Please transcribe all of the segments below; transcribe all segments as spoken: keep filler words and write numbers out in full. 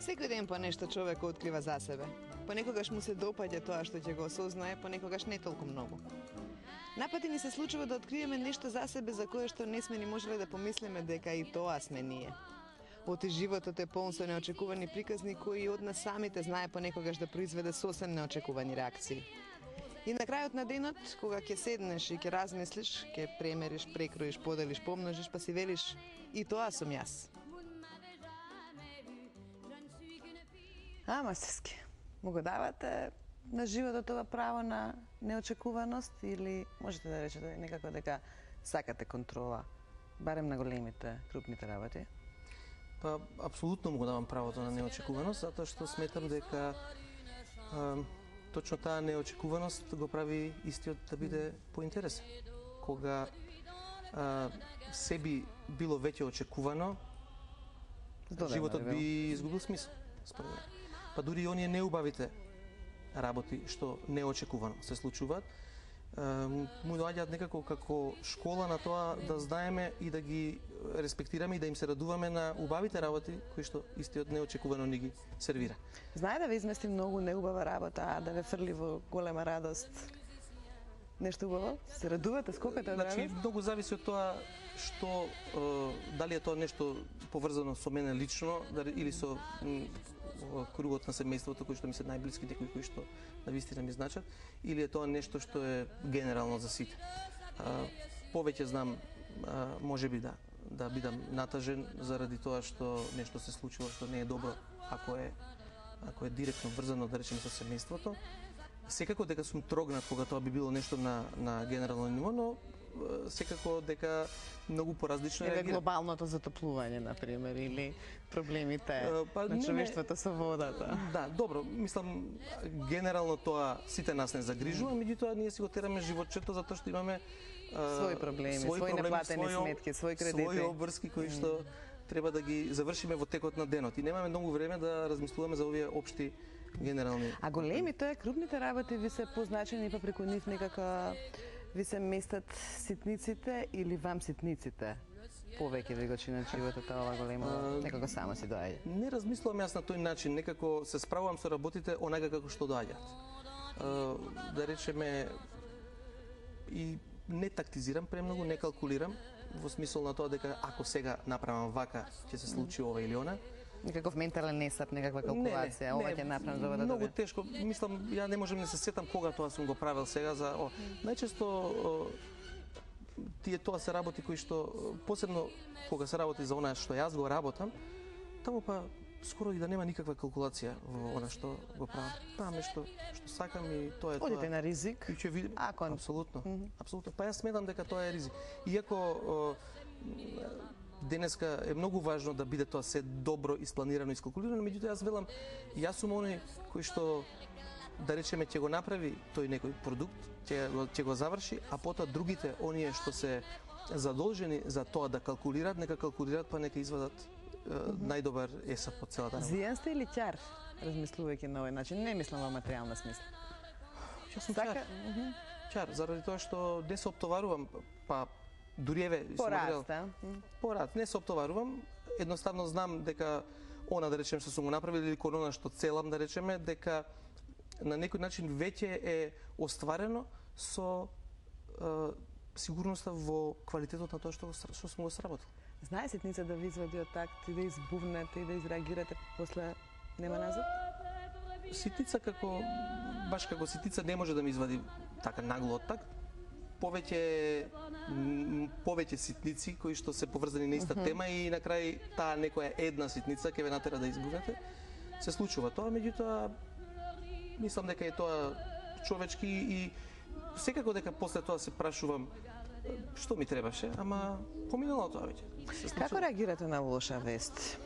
Секој ден по нешто човек открива за себе. Понекогаш му се допаѓа тоа што ќе го осознае, понекогаш не толку многу. Напати ни се случува да откриеме нешто за себе за кое што не сме ни можеле да помислиме дека и тоа сме ние. Оти животот е полн со неочекувани приказни кои од нас самите знае понекогаш да произведе сосем неочекувани реакции. И на крајот на денот, кога ќе седнеш и ќе размислиш, ќе премериш, прекроиш, поделиш, помножиш, па си велиш и тоа сум јас. Ама Сески, му го давате на животот ова право на неочекуваност или можете да речете некако дека сакате контрола, барем на големите, крупните работи? Па, апсолутно му го давам правото на неочекуваност, затоа што сметам дека а, точно таа неочекуваност го прави истиот да биде поинтересен. Кога а, се би било веќе очекувано, Здодено, животот би изгубил смисол, според мене. Па дури и оние неубавите работи што неочекувано се случуваат, му доаѓаат некако како школа на тоа да знаеме и да ги респектираме и да им се радуваме на убавите работи кои што истиот неочекувано ни ги сервира. Знае да ве измести многу неубава работа, а да ве фрли во голема радост. Нешто убаво? Се радувате, скокате од радост? Значи, многу зависи од тоа што, е, дали е тоа нешто поврзано со мене лично, или со кругот на семејството кои што ми се најблиските, кои што на вистина ми значат, или е тоа нешто што е генерално за сите. А, повеќе знам, а, може би да, да бидам натажен заради тоа што нешто се случило што не е добро, ако е ако е директно врзано, да речеме, со семејството. Секако дека сум трогнат кога тоа би било нешто на на генерално ниво, но секако дека многу поразлично е глобалното затоплување, на пример, или проблемите па, на човештвото со водата. Да, добро, мислам генерално тоа сите нас не загрижува, меѓутоа ние си го тераме животчето затоа што имаме своји проблеми, своји, своји неплатени свој, сметки, своји кредити, своји обврски кои што треба да ги завршиме во текот на денот и немаме многу време да размислуваме за овие општи генерални. А големите, крупните работи ви се позначени па преку нив некака ви се местат ситниците или вам ситниците? Повеќе ви го чинат животот ова големо, некако само си доаѓа. Не размислувам јас на тој начин, некако се справувам со работите онака како што доаѓаат. Да речеме, и не тактизирам премногу, не калкулирам, во смисол на тоа дека ако сега направам вака, ќе се случи ова или она. Некаков ментален несап, некаква калкулација, не, не, ова ќе направам за ова да многу тешко, мислам, ја не можам да се сетам кога тоа сум го правил сега за о, најчесто о, тие тоа се работи кои што посебно кога се работи за она што јас го работам, таму па скоро и да нема никаква калкулација во она што го правам. Правам нешто што сакам и тоа е тоа. Одите на ризик? И ќе видим. Акон. Апсолутно. Mm -hmm. Апсолутно. Па јас сметам дека тоа е ризик. Иако о, денеска е многу важно да биде тоа се добро испланирано и искалкулирано, меѓутоа јас велам, јас сум оној кој што да речеме ќе го направи тој некој продукт, ќе го ќе го заврши, а потоа другите оние што се задолжени за тоа да калкулираат, нека калкулираат па нека извадат mm -hmm. најдобар есап од целата работа. Зијан сте или ќар, размислувајќи на овој начин? Не мислам во материјална смисла. Јас сум ќар. Mm -hmm. Ќар, заради тоа што не се оптоварувам, па дури еве порад, да? Порад, не се оптоварувам, едноставно знам дека она да речеме што сум го направил или кон она што целам да речеме дека на некој начин веќе е остварено со е, сигурноста во квалитетот на тоа што што сум го сработил. Знае ситница да ви извади од такт и да избувнете и да изреагирате после нема назад? Ситница како баш како ситница не може да ми извади така нагло од такт. Повеќе повеќе ситници кои што се поврзани на иста uh -huh. тема и на крај таа некоја една ситница ќе ве натера да избувнете. Се случува тоа, меѓутоа мислам дека е тоа човечки и секако дека после тоа се прашувам што ми требаше, ама поминало тоа веќе. Како реагирате на лоша вест?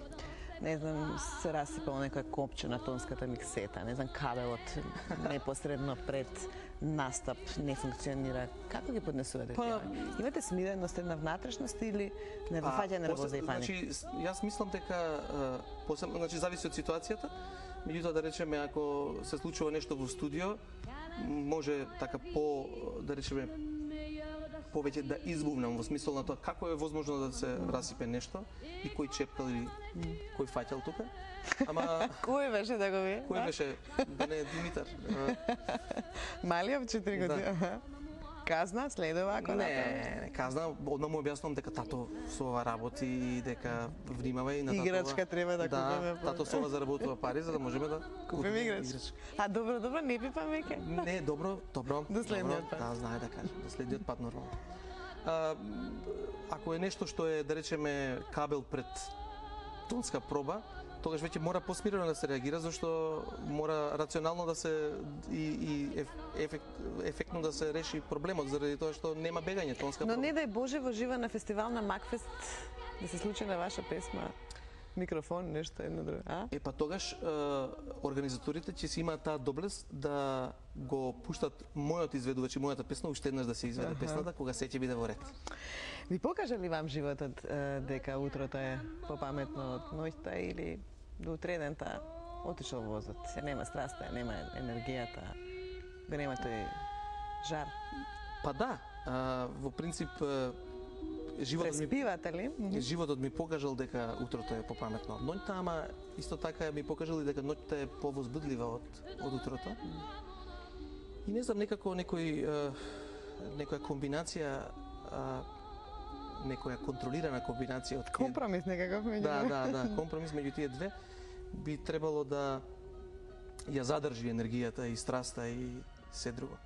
Не знам, се расипало некоја копче на тонската миксета, не знам, кабелот непосредно пред настап не функционира. Како ги поднесувате па, тие? Имате смиреност, една внатрешност или не ви фаќа нервоза и паник? Значи, јас мислам дека посебно, значи зависи од ситуацијата. Меѓутоа да речеме ако се случува нешто во студио, може така по да речеме повеќе да избувнам во смисол на тоа како е возможно да се расипе нешто и кој чепкал или кој фаќал тука. Ама Кој беше да го ви? кој беше да не е Димитар? Малиот четири години. Да. Казна следува ако Не, не казна, одма му објаснувам дека тато со ова работи и дека внимавај на татова. Играчка треба да купиме. Да, тато со ова заработува пари за да можеме да Купиме играчка. А добро, добро, не пипам веќе. Не, добро, добро. До следниот добро, пат. Да, знае да кажем, до следниот пат нормално. А, ако е нешто што е, да речеме, кабел пред тонска проба, тогаш веќе мора посмирено да се реагира, зашто мора рационално да се и, и еф, ефект, ефектно да се реши проблемот, заради тоа што нема бегање тонска Но проба. не дај Боже во жива на фестивал на Макфест да се случи на ваша песма микрофон, нешто едно друго, а? Е, па тогаш е, организаторите ќе си имаат таа доблест да го пуштат мојот изведувач и мојата песна уште еднаш да се изведе Аха. песната, кога се ќе биде во ред. Ви покажа ли вам животот е, дека утрото е попаметно од ноќта или до утредента отишол возот, се нема страста, нема енергијата, го нема тој жар. Па да, а, во принцип е, животот ми Преспивате ли? животот ми покажал дека утрото е попаметно од ноќта, ама исто така ми покажал и дека ноќта е повозбудлива од од утрото. И не знам, некако некој е, некоја комбинација а, некоја контролирана комбинација од тие- Компромис некаков меѓу Да, да, да, компромис меѓу тие две би требало да ја задржи енергијата и страста и се друго.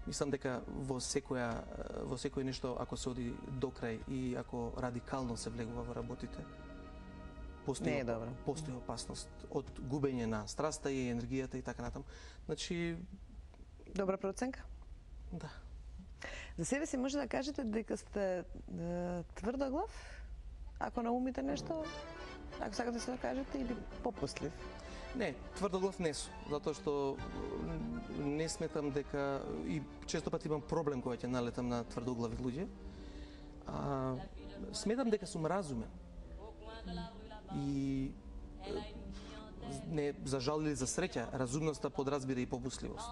Мислам дека во секоја во секој нешто ако се оди до крај и ако радикално се влегува во работите, постои Не е добро. постои опасност од губење на страста и енергијата и така натаму. Значи, Добра проценка. да. За себе си може да кажете дека сте е, тврдоглав, ако наумите нешто, ако сакате да се да кажете, или попуслив? Не, тврдоглав не сум, затоа што м, не сметам дека и често пати имам проблем кога ќе налетам на тврдоглави луѓе. А, сметам дека сум разумен. И е, не за жал или за среќа, разумноста подразбира и попусливост.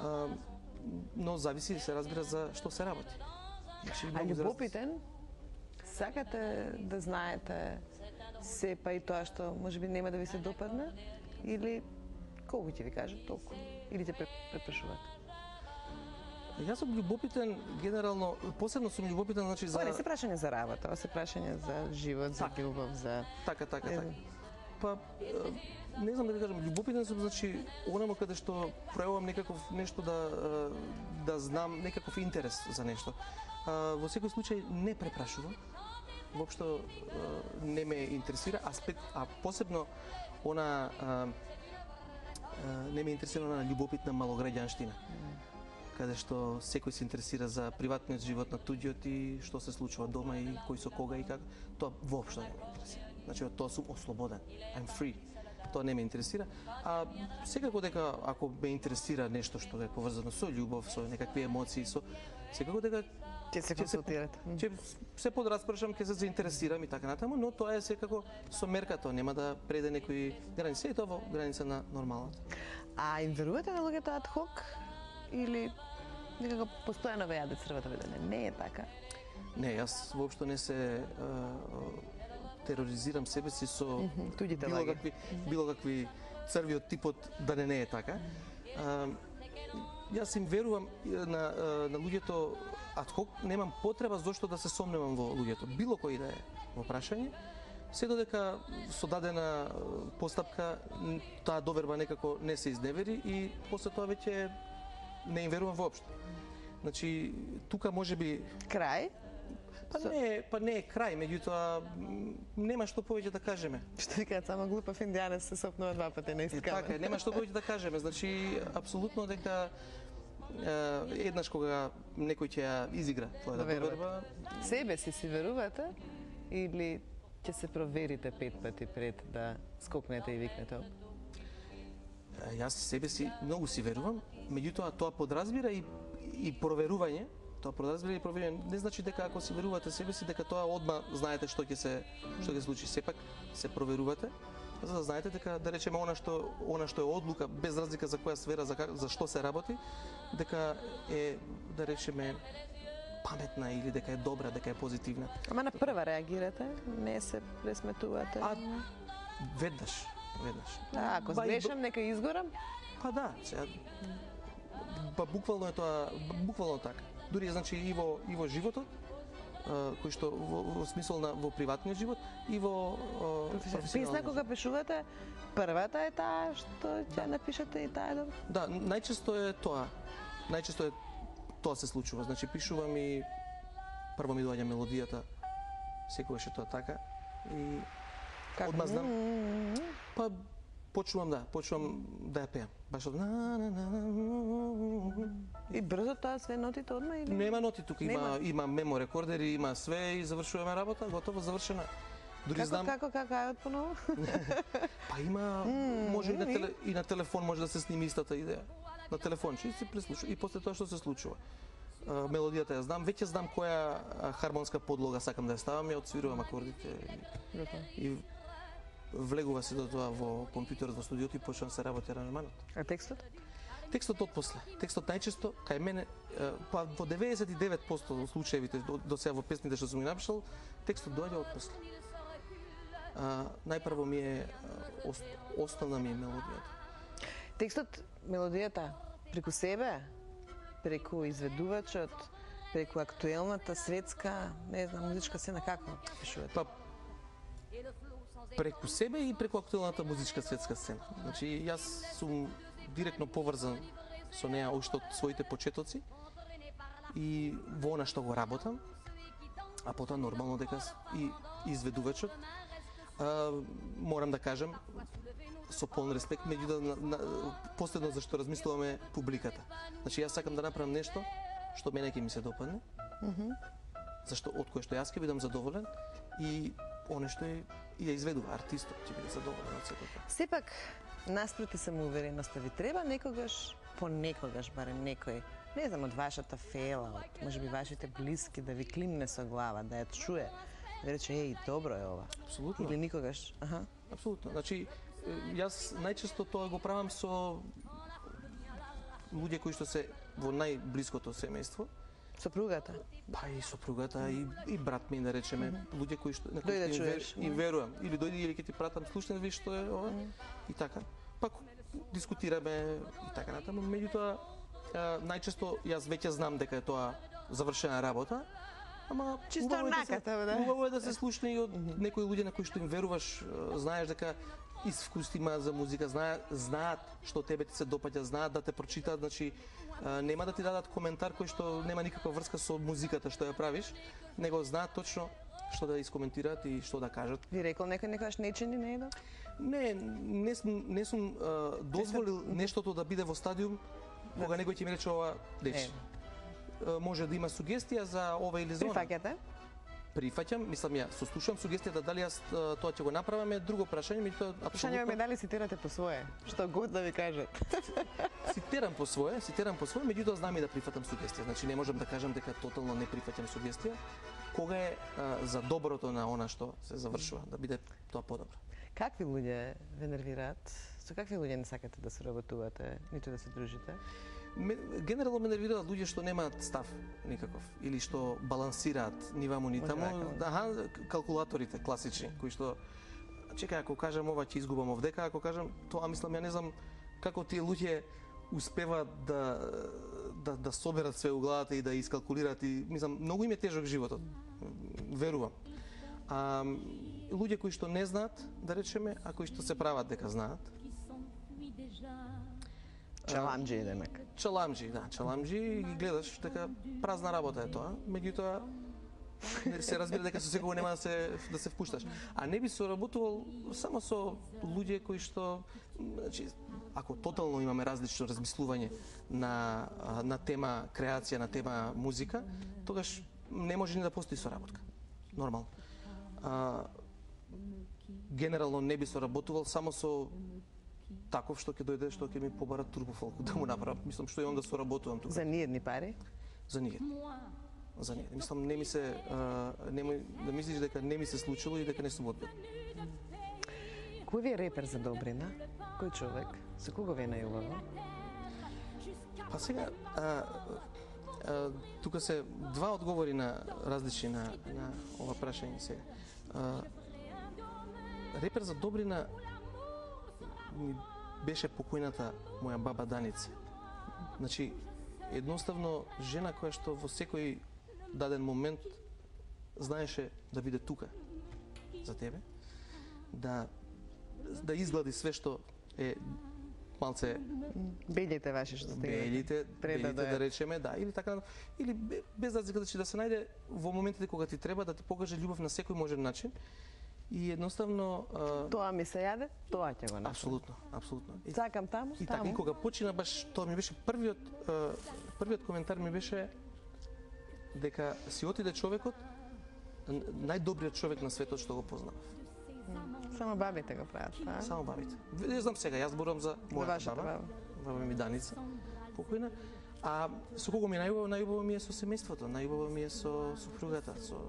А, но зависи, се разбира, за што се работи. Значи, А многу изразни- љубопитен, сакате да знаете се па и тоа што можеби нема да ви се допадне, или колку ќе ви кажат толку, или ќе препрашувате? Јас сум љубопитен генерално, посебно сум љубопитен значи за Ова не се прашање за работа, ова се прашање за живот, за Така. љубов, за... така така Е, така. Па е, не знам да ви кажам, љубопитен сум значи онамо каде што пројавувам некаков нешто да е, да знам некаков интерес за нешто. А, во секој случај не препрашувам. Воопшто е, не ме интересира аспект, а посебно она е, е, не ме интересира она љубопитна малограѓанштина. Каде што секој се интересира за приватниот живот на туѓиот и што се случува дома и кој со кога и како. Тоа воопшто не ме интересира. Значи, од тоа сум ослободен. I'm free. Тоа не ме интересира. А секако дека ако ме интересира нешто што е поврзано со љубов, со некакви емоции, со секако дека Ќе се ќе се, консултирате. ќе се подраспрашам, ќе се заинтересирам и така натаму, но тоа е секако со мерка, тоа нема да преде некои граници, и тоа во граница на нормалната. А им верувате на луѓето ад хок? Или некако постојано ве јаде црвата видење? Не е така. Не, јас воопшто не се е, тероризирам себе си со Мгм, туѓите било лаги. какви било какви црви од типот да не не е така. А, јас им верувам е, на е, на луѓето ад хок, немам потреба зошто да се сомневам во луѓето. Било кој да е во прашање, се додека со дадена е, постапка н- таа доверба некако не се изневери и после тоа веќе не им верувам воопшто. Значи, тука можеби Крај, Па не, е- па не е крај, меѓутоа м, нема што повеќе да кажеме. што викаат, само глупав индијанец се сопнува два пати на И ист така, е, камен. нема што повеќе да кажеме. Значи, апсолутно дека е, еднаш кога некој ќе ја изигра твојата Верувате. доверба, Себе си си верувате или ќе се проверите пет пати пред да скокнете и викнете оп? е, јас себе си многу си верувам, меѓутоа тоа подразбира и и проверување. Тоа подразбира и проверување не значи дека ако си верувате себе си дека тоа одма знаете што ќе се што ќе се случи. Сепак се проверувате за да знаете дека да речеме она што она што е одлука без разлика за која сфера за, за што се работи, дека е да речеме паметна или дека е добра, дека е позитивна. Ама на прва реагирате, не се пресметувате. А веднаш, веднаш. Да, ако Ба, и сгрешам, нека изгорам. Па да, сега па буквално е тоа, буквално така. Дури значи и во и во животот, кој што во, во смисол на во приватниот живот и во професионалниот. Песна кога пишувате, првата е таа што ќе напишете и таа е добра. Да, најчесто е тоа. Најчесто е тоа се случува. Значи пишувам и прво ми доаѓа мелодијата, секогаш е тоа така и Како? одмah знам. Па почнувам да, почнувам да ја пеам. Баш од на на на. И брзо тоа све нотите одма или? Нема ноти тука, има Нема? има мемо рекордери, има све и завршуваме работа, готово завршена. Дури Како, знам, како, како, ајде поново? па има може и на теле, и на телефон може да се сними истата идеја. На телефон, че се преслуша и после тоа што се случува. А, мелодијата ја знам, веќе знам која а, хармонска подлога сакам да ја ставам, ја отсвирувам акордите и, и влегува се до тоа во компјутерот во студиото и почнам се работи аранжманот. А текстот? Текстот отпосле. Текстот најчесто кај мене, па во деветдесет и девет проценти од случаевите до, до сега во песните што сум ги напишал, текстот доаѓа отпосле. А, најпрво ми е ост, основна ми е мелодијата. Текстот, мелодијата, преку себе, преку изведувачот, преку актуелната светска, не знам, музичка сцена, како пишувате? Па преку себе и преку актуелната музичка светска сцена. Значи јас сум директно поврзан со неа уште од своите почетоци и во она што го работам, а потоа нормално дека и изведувачот. А, морам да кажам со полн респект, меѓутоа на, на, последно за што размислуваме публиката. Значи јас сакам да направам нешто што мене ќе ми се допадне. Mm -hmm. Зашто од кое што јас ќе бидам задоволен и оне што е и ја изведува артистот ќе биде задоволен од сето тоа. Сепак, наспроти самоувереноста ви треба некогаш, понекогаш барем некој, не знам, од вашата фела, од можеби вашите блиски да ви климне со глава, да ја чуе, да рече еј, добро е ова. Апсолутно. Или никогаш. Аха. Апсолутно. Значи јас најчесто тоа го правам со луѓе кои што се во најблиското семејство. Сопругата? Па и сопругата и, и брат ми, да речеме, mm -hmm. луѓе кои што на кои Дојде што им, вер, чуеш. им верувам, или дојди или ќе ти пратам слушне виж што е ова mm -hmm. и така. Пак дискутираме и така натаму, меѓутоа најчесто јас веќе знам дека е тоа завршена работа, ама чисто наката, да. Убаво е да се слушне и од некои луѓе на кои што им веруваш, знаеш дека искус има за музика, знаат, знаат што тебе ти се допаѓа, знаат да те прочитаат, значи нема да ти дадат коментар кој што нема никаква врска со музиката што ја правиш, него знаат точно што да искоментираат и што да кажат. Ви рекол некој некогаш не чини, не е да? Не, не сум, не сум а, дозволил нештото да биде во стадиум кога некој ќе ми рече ова, дечи. Може да има сугестија за ова или за она. Прифаќате? Прифаќам, мислам ја, сослушувам сугестијата дали јас тоа ќе го направам е друго прашање, меѓутоа апсолутно. Прашање ме дали цитирате по свое, што год да ви кажат. Цитирам по свое, цитирам по свое, меѓутоа знам и да прифатам сугестија. Значи не можам да кажам дека тотално не прифаќам сугестија, кога е а, за доброто на она што се завршува, да биде тоа подобро. Какви луѓе ве нервираат? Со какви луѓе не сакате да соработувате, ниту да се дружите? Ме, генерално ме нервираат луѓе што немаат став никаков или што балансираат ни ваму ни таму. Аха, калкулаторите класични кои што чекај, ако кажам ова ќе изгубам овдека, ако кажам тоа, мислам ја не знам како тие луѓе успеваат да да да соберат све у главата и да искалкулираат и мислам многу им е тежок животот. Верувам. А луѓе кои што не знаат, да речеме, а кои што се прават дека знаат. Чаламџи, демек. Чаламџи, да, чаламџи и ги гледаш дека празна работа е тоа, меѓутоа се разбира дека со секој нема да се да се впушташ. А не би соработувал само со луѓе кои што, значи, ако тотално имаме различно размислување на на тема креација, на тема музика, тогаш не може ни да постои соработка. Нормално. А, генерално не би соработувал само со таков што ќе дојде, што ќе ми побара турбофолк да му направам. Мислам што и онда соработувам тука. За ниедни пари? За ниедни. За ниедни. Мислам не ми се а, не ми, да мислиш дека не ми се случило и дека не сум одбил. Кој ви е репер за добрина? Кој човек? Со кого ви е најубаво? Па сега, а, а, тука се два одговори на различни на, на ова прашање сега. А, репер за добрина ми беше покојната моја баба Даница. Значи, едноставно жена која што во секој даден момент знаеше да биде тука за тебе, да да изглади све што е малце Белите ваши што сте белите, пред да белите да дојдат. речеме, да, или така, или бе- без разлика да се најде во моментите кога ти треба да ти покаже љубов на секој можен начин. И едноставно а, Тоа ми се јаде, тоа ќе го направам. апсолутно, апсолутно. И, Сакам таму, и така и таму. кога почина баш тоа ми беше првиот а, првиот коментар ми беше дека си отиде човекот н- најдобриот човек на светот што го познав. Само бабите го прават, па? Само бабите. Не знам сега, јас зборувам за мојата вашата баба. баба. Баба ми Даница, покојна. А со кого ми е најубаво? Најубаво ми е со семејството, најубаво ми е со супругата, со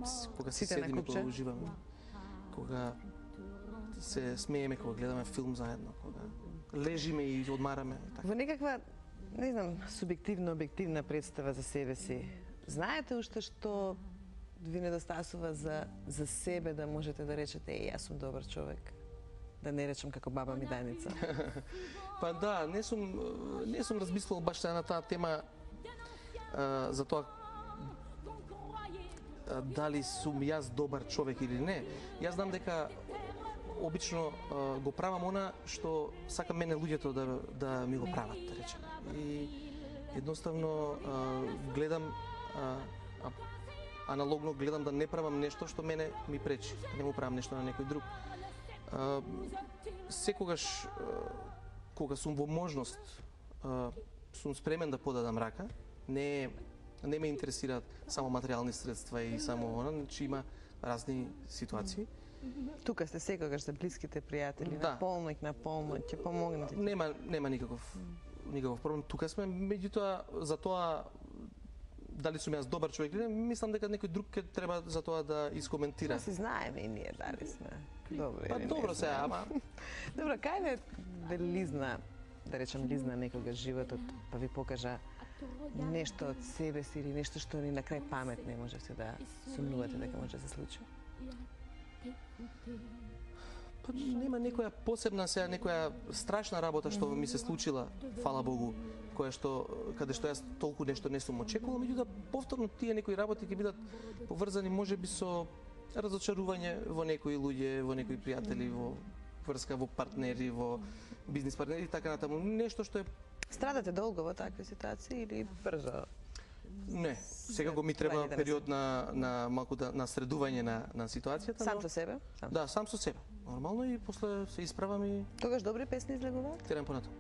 с- кога се Сите на седиме, купче? кога уживаме, кога се смееме, кога гледаме филм заедно, кога лежиме и одмараме. Така. Во некаква, не знам, субјективно, објективна представа за себе си, знаете уште што ви недостасува за, за себе да можете да речете, е, јас сум добар човек? Да не речем како баба ми Даница. Па да, не сум не сум размислувал баш сега на таа тема а, за тоа а, дали сум јас добар човек или не. Јас знам дека обично а, го правам она што сакам мене луѓето да да ми го прават, да речеме. И едноставно а, гледам а, а, аналогно гледам да не правам нешто што мене ми пречи, да не му правам нешто на некој друг. А, секогаш а, кога сум во можност а, сум спремен да подадам рака, не не ме интересираат само материјални средства и само она, значи има разни ситуации. Тука сте секогаш за блиските пријатели, Да. на помоќ, на помоќ, ќе помогнете. Нема нема никаков никаков проблем. Тука сме, меѓутоа за тоа дали сум јас добар човек или не, мислам дека некој друг ќе треба за тоа да искоментира. Тоа си знаеме и ние дали сме добри Па или не добро се, знаеме. ама Добро, кај ве ве лизна, да речем лизна некогаш животот, па ви покажа нешто од себе си или нешто што ни на крај памет не можете да сумнувате дека може да се случи? па нема некоја посебна сега некоја страшна работа што ми се случила, фала Богу, која што каде што јас толку нешто не сум очекувал, меѓутоа повторно тие некои работи ќе бидат поврзани можеби со разочарување во некои луѓе, во некои пријатели, во врска во партнери, во бизнис партнери и така натаму. Нешто што е Страдате долго во такви ситуации или брзо? не, секако ми треба Вајде да не период на на малку да на средување на на ситуацијата. Сам но- со себе? Сам. Да, сам со себе. Нормално и после се исправам и Тогаш добри песни излегуваат? терам понатаму.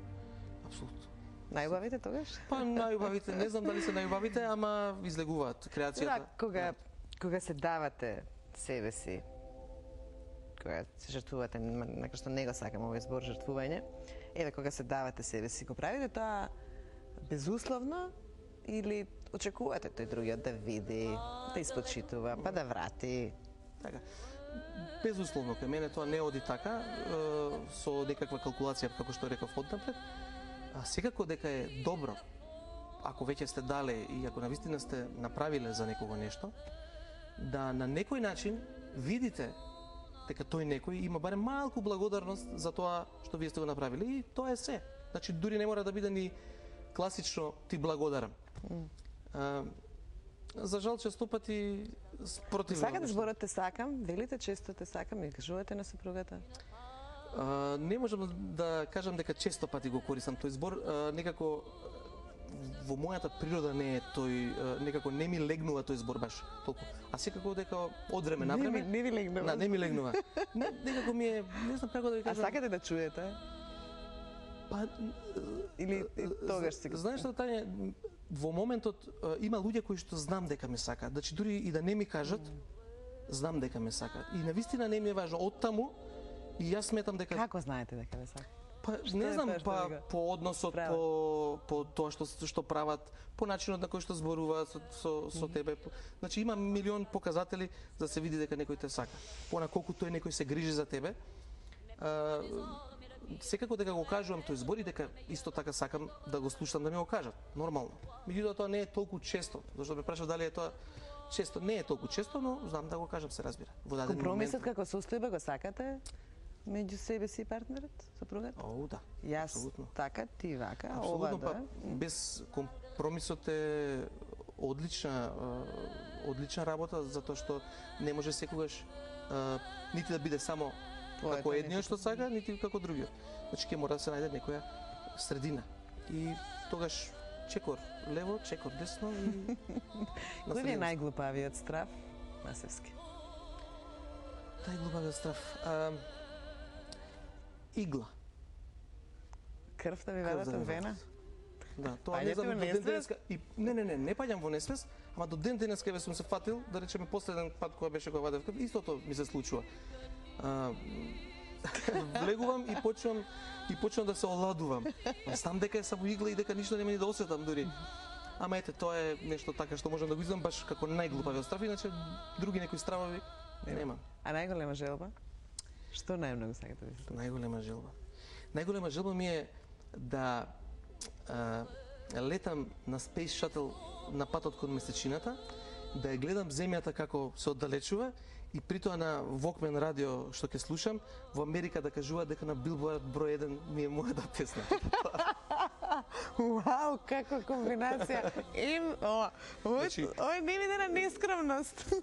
Апсолутно. Најубавите тогаш? Па најубавите, не знам дали се најубавите, ама излегуваат креацијата. Да, кога, кога се давате себе си, кога се жртвувате, нека што не го сакам овој збор жртвување, еве кога се давате себе си, го правите тоа безусловно или очекувате тој другиот да види, да испочитува, па да врати? Така. Безусловно, кај мене тоа не оди така, е, со некаква калкулација, како што реков однапред, а секако дека е добро, ако веќе сте дале и ако навистина сте направиле за некого нешто, да на некој начин видите дека тој некој има барем малку благодарност за тоа што вие сте го направили и тоа е се. Значи дури не мора да биде ни класично ти благодарам. А, за жал често пати спротивно. Сакате зборот те сакам, велите често те сакам и кажувате на супругата? А, не можам да кажам дека често пати го користам тој збор, а, некако во мојата природа не е тој, а, некако не ми легнува тој збор баш толку. А секако дека од време на Не време ми- не ви легнува. Да, не ми легнува. Не, некако ми е, не знам како да ви А кажам. сакате да чуете? Па Или и тогаш си го... знаеш што Тања, во моментот а, има луѓе кои што знам дека ме сакаат. Значи дури и да не ми кажат, знам дека ме сакаат. И навистина не ми е важно оттаму и јас сметам дека Како знаете дека ве сакат? па Што не е знам тоа што па ви го по односот, прават? по по тоа што што прават, по начинот на кој што зборуваат со со, со тебе. Значи има милион показатели за да се види дека некој те сака. Пона колку тој некој се грижи за тебе а, секако дека го кажувам тој збор и дека исто така сакам да го слушам да ми го кажат, нормално. Меѓутоа тоа не е толку често, зашто ме прашав дали е тоа често, не е толку често, но знам да го кажам, се разбира. Во даден Компромисот момент. како состојба го сакате меѓу себе си и партнерот, сопругата? О, да. Јас Апсолутно. така, ти вака, Апсолутно, ова да. па, без компромисот е одлична, е, одлична работа, затоа што не може секогаш е, нити да биде само Твоето, како едниот нити што сака, нити како другиот. Значи ќе мора да се најде некоја средина. И тогаш чекор лево, чекор десно и на Кој ви е средина. најглупавиот страв? Масевски. Најглупавиот страв. А, игла. Крвта ви Крв вадат да ми од вена? Да, тоа Паѓате не знам во до ден несвест? денеска и не не не, не паѓам во несвест, ама до ден денеска ве сум се фатил, да речеме последен пат кога беше кога вадев крв, истото ми се случува. А, влегувам и почнувам и почнувам да се оладувам. Знам дека е само игла и дека ништо нема ни да осетам дури. Ама ете, тоа е нешто така што можам да го изам баш како најглупавиот страв, иначе други некои стравови нема. А најголема желба? Што најмногу сакате да се случи? Најголема желба. Најголема желба ми е да а, летам на Space Shuttle на патот кон месечината, да ја гледам земјата како се оддалечува и притоа на Walkman радио што ќе слушам, во Америка да кажува дека на Billboard број еден ми е мојата песна. Вау, каква комбинација. Им, о, ој, Значи- ој не видена нескромност.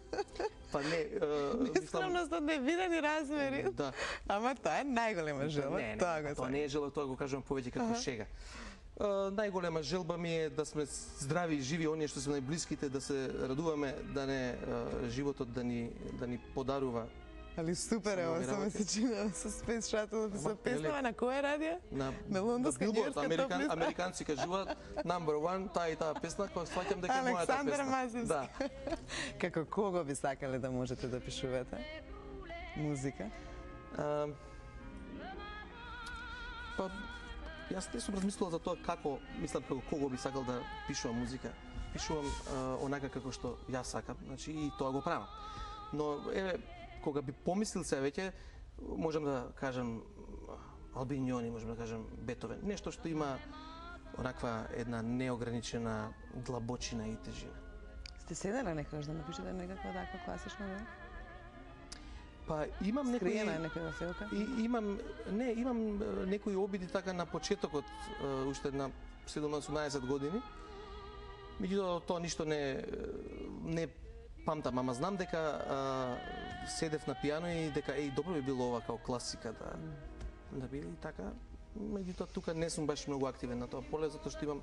Па не, е, мислам, Нескромност од невидени размери. да. Ама тоа е најголема желба. Не, не, Тоа го тоа сакам. не е желба, тоа го кажувам повеќе како шега. Uh, најголема желба ми е да сме здрави и живи, оние што се најблиските, да се радуваме, да не uh, животот да ни да ни подарува Али супер е Само ова ми со работи. месечина, со Space Shuttle, со Ама, песнава еле- на која радио? на, На лондонска, на Billboard, њујорска Американ, топ листа. американци кажуваат number one, таа и таа песна, која сваќам дека е мојата Александар песна. Масевски. Да. Како кого би сакале да можете да пишувате? Музика? А, па, јас не сум размислувал за тоа како, мислам како кого би сакал да пишувам музика. Пишувам а, онака како што јас сакам, значи и тоа го правам. Но еве кога би помислил се веќе, можам да кажам Албинјони, можам да кажам Бетовен, нешто што има онаква една неограничена длабочина и тежина. Сте седеле некогаш да напишете некаква таква класична вела? Па имам некои Скриена е некоја филка? И имам не, имам е, некои обиди така на почетокот, е, уште на седумнаесет-осумнаесет години. Меѓутоа тоа ништо не не памтам, ама знам дека а, седев на пијано и дека еј добро би било ова као класика да да биде и така. Меѓутоа тука не сум баш многу активен на тоа поле затоа што имам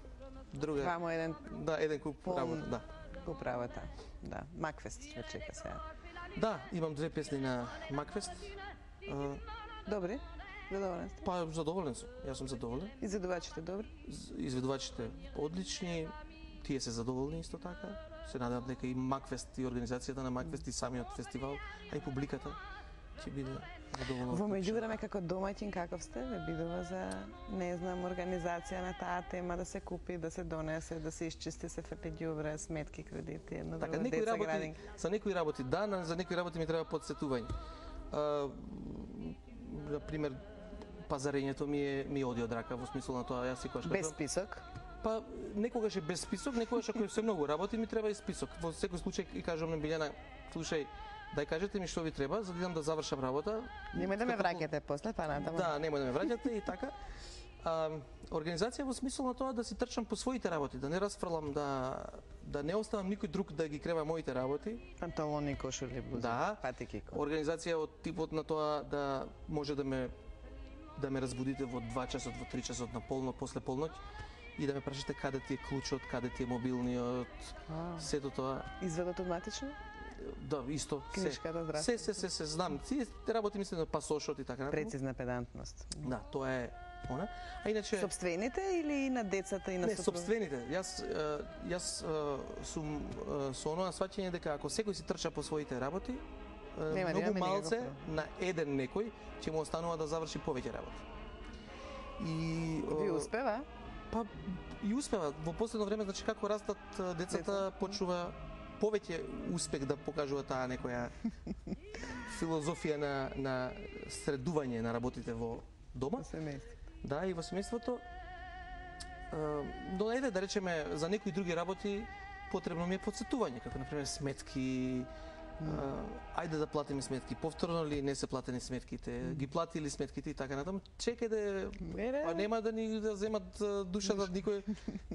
друга Вамо еден да еден куп Пол- работа, да. го правата. Да, Макфест ве чека сега. Да, имам две песни на Макфест. А, Добри? Задоволен сте? па задоволен сум. Јас сум задоволен. Изведувачите добри? Изведувачите одлични, тие се задоволни исто така. Се надевам дека и Макфест и организацијата на Макфест и самиот фестивал, а и публиката ќе биде задоволна. Во од причина. меѓувреме како домаќин каков сте, ве бидува за, не знам, организација на таа тема да се купи, да се донесе, да се исчисти, се фрли ѓубре, сметки, кредити, едно Така, друго, некои деца, работи, градинки. за некои работи да, на- за некои работи ми треба подсетување. А, на пример, пазарењето ми е ми оди од рака во смисол на тоа јас секогаш Без кажувам, список. па некогаш е без список, некогаш ако е се многу работи ми треба и список. Во секој случај и кажувам на Билјана, слушај, дај кажете ми што ви треба за да идам да завршам работа. Немој да ме Како- враќате после, па натаму. Да, немој да ме враќате и така. А, организација во смисол на тоа да си трчам по своите работи, да не расфрлам, да да не оставам никој друг да ги крева моите работи. Панталони, кошули, блузи, Да. патики. ко- Организација од типот на тоа да може да ме да ме разбудите во два часот, во три часот на полно после полноќ и да ме прашате каде ти е клучот, каде ти е мобилниот, А, сето тоа. Изведот автоматично? Да, исто, се. Книжката, здравство. Се, се, се, се, знам. Тие работи мислам на пасошот и така натаму. Прецизна педантност. Да, тоа е она. А иначе Собствените или и на децата и на не, сопруга? собствените. Јас е, јас е, сум е, со оноа сваќање дека ако секој си трча по своите работи, е, Нема да многу имаме малце никаков на еден некој ќе му останува да заврши повеќе работи. И Ви е, успева? па и успева во последно време, значи како растат е, децата, Деца. почнува повеќе успех да покажува таа некоја филозофија на на средување на работите во дома. Да, и во семејството. Но ајде да речеме за некои други работи потребно ми е подсетување, како на пример сметки. Uh, ајде да платиме сметки, повторно ли не се платени сметките, mm. ги платили сметките и така натаму. Чекајте, па нема да ни да земат душата, никој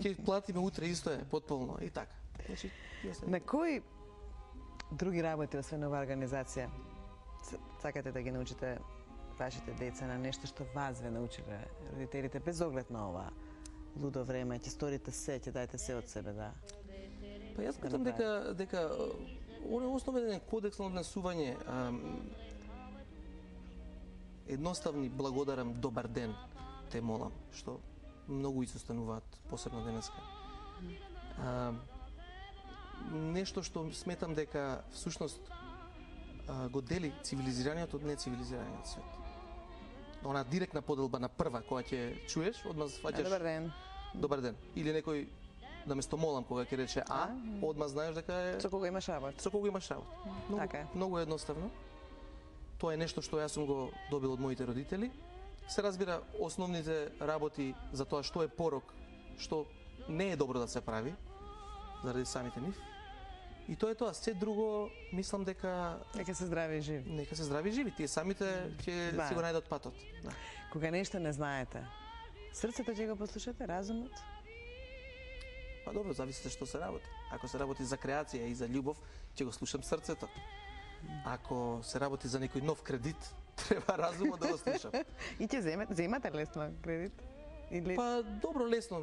ќе платиме утре исто е, потполно и така. Значи, на кои други работи освен ова организација сакате да ги научите вашите деца на нешто што вас ве научиле родителите без оглед на ова лудо време, ќе сторите се, ќе дајте се од себе, да? Па јас кажам дека дека он е основен кодекс на однесување. Едноставни благодарам, добар ден, те молам, што многу изостануваат, посебно денеска. А, нешто што сметам дека всушност а, го дели цивилизираниот од нецивилизираниот свет. Она директна поделба на прва, кога ќе чуеш, одма сваќаш... Добар ден. Добар ден. Или некој наместо молам кога ќе рече а, одма знаеш дека е со кого имаш работа. Со кого имаш работа. Многу, така е. Многу едноставно. Тоа е нешто што јас сум го добил од моите родители. Се разбира основните работи за тоа што е порок, што не е добро да се прави заради самите нив. И тоа е тоа. Се друго мислам дека нека се здрави и живи. Нека се здрави и живи. Тие самите ќе да. Си го најдат патот. Да. Кога нешто не знаете, срцето ќе го послушате, разумот? Па добро, зависи што се работи. Ако се работи за креација и за љубов, ќе го слушам срцето. Ако се работи за некој нов кредит, треба разумот да го слушам. И ќе земете, земате лесно кредит? Или... Па добро, лесно.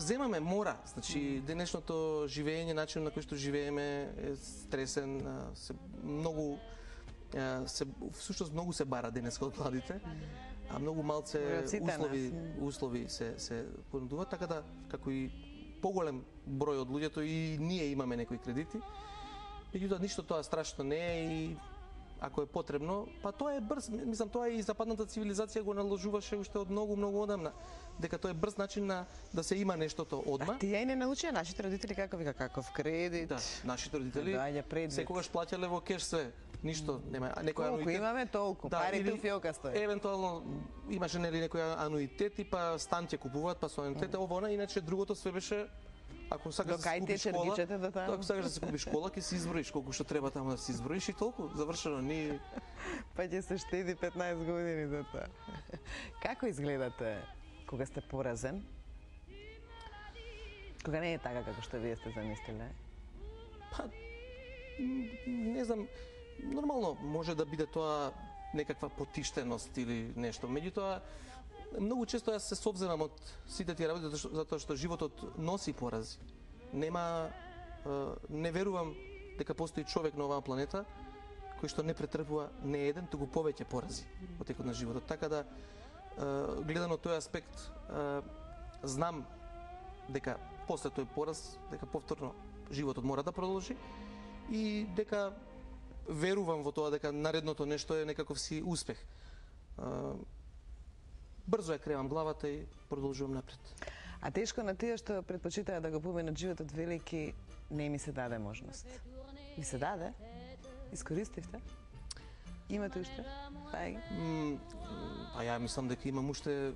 Земаме, мора. Значи, денешното живење, начин на кој што живееме е стресен, се многу се всушност многу се бара денеска од младите. А многу малце услови услови се се понудуваат, така да како и поголем број од луѓето и ние имаме некои кредити. Меѓутоа ништо тоа страшно не е и ако е потребно, па тоа е брз, мислам тоа и западната цивилизација го наложуваше уште од многу многу одамна, дека тоа е брз начин на да се има нештото одма. А тие и не научија нашите родители како вика каков кредит. Да, нашите родители секогаш плаќале во кеш све. Ништо нема, некој колку ануитет. Имаме толку, да, парите у фиока стои. Евентуално имаше нели некој ануитет и па стан ќе купуваат, па со ануитет, ова она, иначе другото све беше ако сакаш да се купиш школа, да ако сакаш да се купиш школа, ќе си изброиш колку што треба таму да си изброиш и толку, завршено, ни па ќе се штеди петнаесет години за тоа. Како изгледате кога сте поразен? Кога не е така како што вие сте замислиле? Па не знам, нормално може да биде тоа некаква потиштеност или нешто. Меѓутоа, многу често јас се совземам од сите тие работи затоа што животот носи порази. Нема, не верувам дека постои човек на оваа планета кој што не претрпува не еден, туку повеќе порази во текот на животот. Така да, гледано тој аспект, знам дека после тој пораз, дека повторно животот мора да продолжи и дека верувам во тоа дека наредното нешто е некаков си успех. Брзо ја кревам главата и продолжувам напред. А тешко на тие што предпочитаат да го поменат животот велики, не ми се даде можност. Ви се даде? Искористивте? Имате уште? Пај? Па ја мислам дека имам уште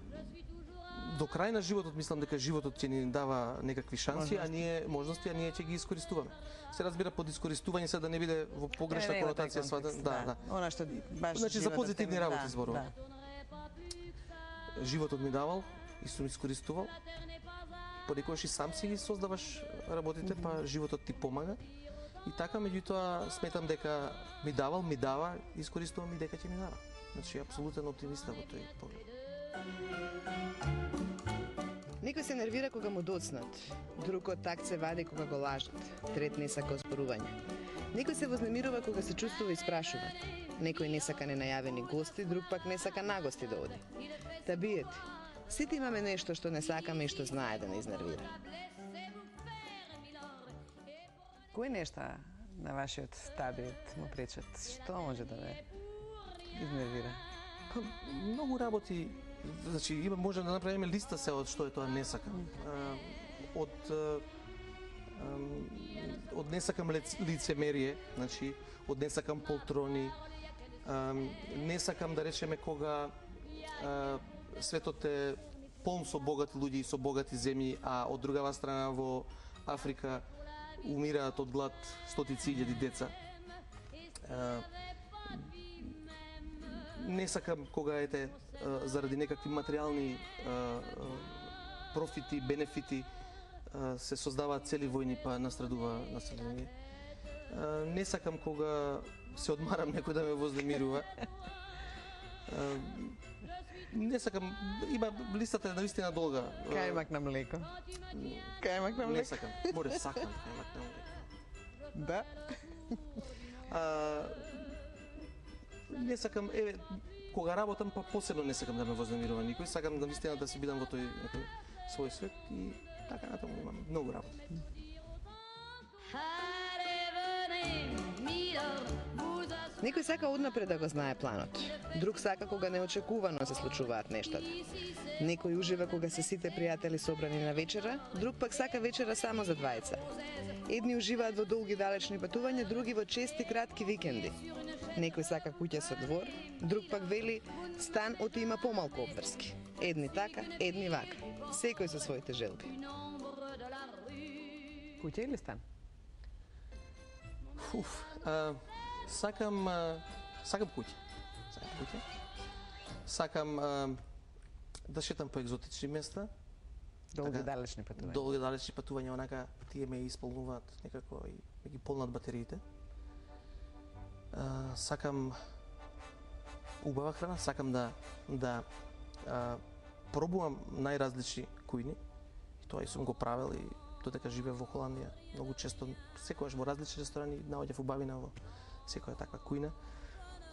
до крај на животот, мислам дека животот ќе ни дава некакви шанси, можности. а ние можности, а ние ќе ги искористуваме. Се разбира под искористување се да не биде во погрешна конотација сватен, да, да. Она што баш значи за позитивни работи да, зборувам. Да. Животот ми давал и сум искористувал. Понекогаш и сам си ги создаваш работите, па животот ти помага. И така, меѓутоа, сметам дека ми давал, ми дава, искористувам и дека ќе ми дава. Значи, апсолутен оптимист во тој поглед. Некој се нервира кога му доцнат, друг од такт се вади кога го лажат, трет не сака оспорување. Некој се вознемирува кога се чувствува испрашуван. Некој не сака ненајавени гости, друг пак не сака нагости да оди. Та биете, сите имаме нешто што не сакаме и што знае да не изнервира. Кои нешта на вашиот табиет му пречат? Што може да ве изнервира? Па, многу работи, значи има може да направиме листа се од што е тоа не сакам. Mm. Од од не сакам лицемерие, значи од не сакам полтрони, не сакам да речеме кога а, светот е полн со богати луѓе и со богати земји, а од другава страна во Африка умираат од глад стотици илјади деца. А, не сакам кога ете а, заради некакви материјални а, профити, бенефити а, се создаваат цели војни па настрадува население. А, не сакам кога се одмарам некој да ме вознемирува. А, не сакам, има листата е наистина долга. Кајмак на млеко. Кајмак на млеко. Не сакам, море сакам кајмак на млеко. Да. А, не сакам, еве, кога работам, па посебно не сакам да ме вознемирува никој, сакам да наистина да си бидам во тој некој свој свет и така натаму имам многу работа. Некој сака однапред да го знае планот. Друг сака кога неочекувано се случуваат нештата. Некој ужива кога се сите пријатели собрани на вечера, друг пак сака вечера само за двајца. Едни уживаат во долги далечни патувања, други во чести кратки викенди. Некој сака куќа со двор, друг пак вели стан оти има помалку обврски. Едни така, едни вака. Секој со своите желби. Куќа или стан? Уф, а, сакам, а, сакам куќа. Сакам куќа. Сакам а, да шетам по екзотични места. Долги така, далечни патувања. Долги далечни патувања, онака тие ме исполнуваат некако и ме ги полнат батериите. А, сакам убава храна, сакам да да а, пробувам најразлични кујни. И тоа и сум го правел и додека живеев во Холандија. Многу често, секогаш во различни ресторани наоѓав убавина во секоја таква кујна.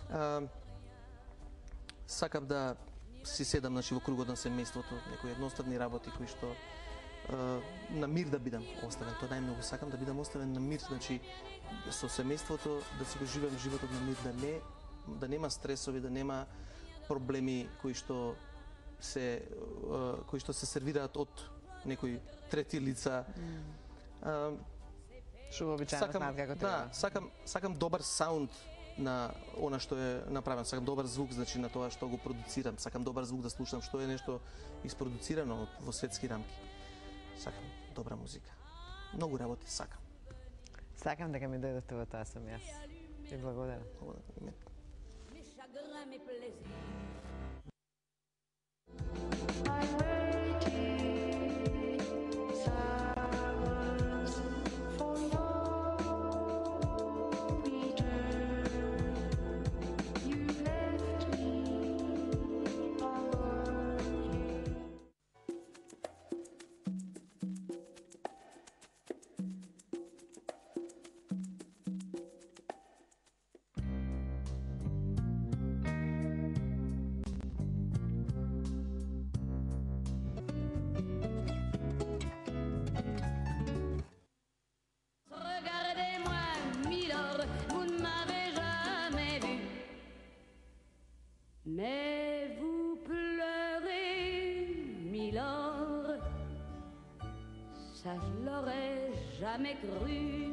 А, сакам да си седам значи, во кругот на семејството, некои едноставни работи кои што а, на мир да бидам оставен. Тоа најмногу сакам да бидам оставен на мир, значи со семејството да си го живеам животот на мир, да не да нема стресови, да нема проблеми кои што се а, кои што се сервираат од некои трети лица. Mm. Што вообичаено знаат како треба. Да, сакам сакам добар саунд на она што е направено, сакам добар звук значи на тоа што го продуцирам, сакам добар звук да слушам што е нешто испродуцирано во светски рамки. Сакам добра музика. Многу работи сакам. Сакам дека ми дојдете во тоа сум јас. И благодарам. Благодарам. Mais vous pleurez, Milord, ça je l'aurais jamais cru.